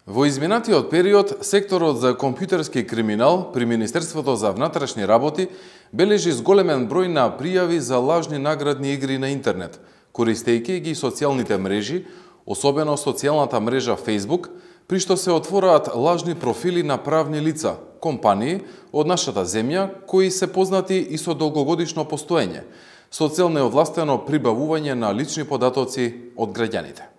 Во изминатиот период, секторот за компјутерски криминал при Министерството за внатрешни работи бележи зголемен број на пријави за лажни наградни игри на интернет, користејќи ги социјалните мрежи, особено социјалната мрежа Facebook, при што се отвораат лажни профили на правни лица, компании од нашата земја кои се познати и со долгогодишно постоење, со цел неовластено прибавување на лични податоци од граѓаните.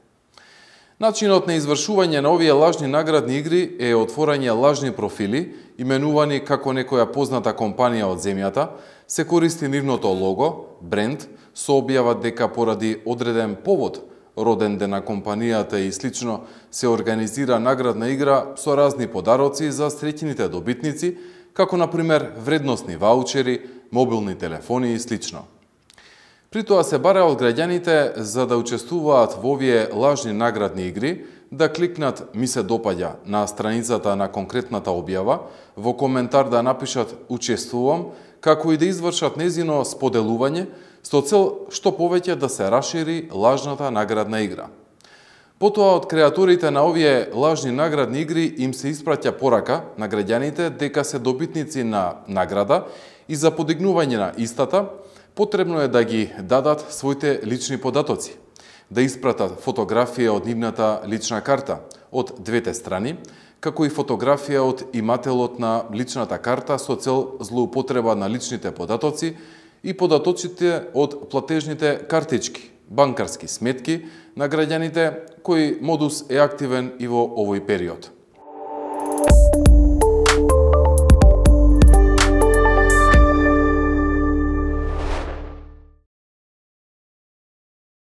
Начинот на извршување на овие лажни наградни игри е отворање лажни профили, именувани како некоја позната компанија од земјата, се користи нивното лого, бренд, со објава дека поради одреден повод, роден ден на компанијата и слично, се организира наградна игра со разни подароци за среќните добитници, како например вредносни ваучери, мобилни телефони и слично. При тоа се бара од граѓаните за да учествуваат во овие лажни наградни игри, да кликнат "Ми се допаѓа" на страницата на конкретната објава, во коментар да напишат "Учествувам", како и да извршат незино споделување, со цел што повеќе да се расшири лажната наградна игра. Потоа од креаторите на овие лажни наградни игри им се испраќа порака на граѓаните дека се добитници на награда и за подигнување на истата, потребно е да ги дадат своите лични податоци, да испратат фотографија од нивната лична карта од двете страни, како и фотографија од имателот на личната карта со цел злоупотреба на личните податоци и податоците од платежните картички, банкарски сметки на граѓаните, кој модус е активен и во овој период.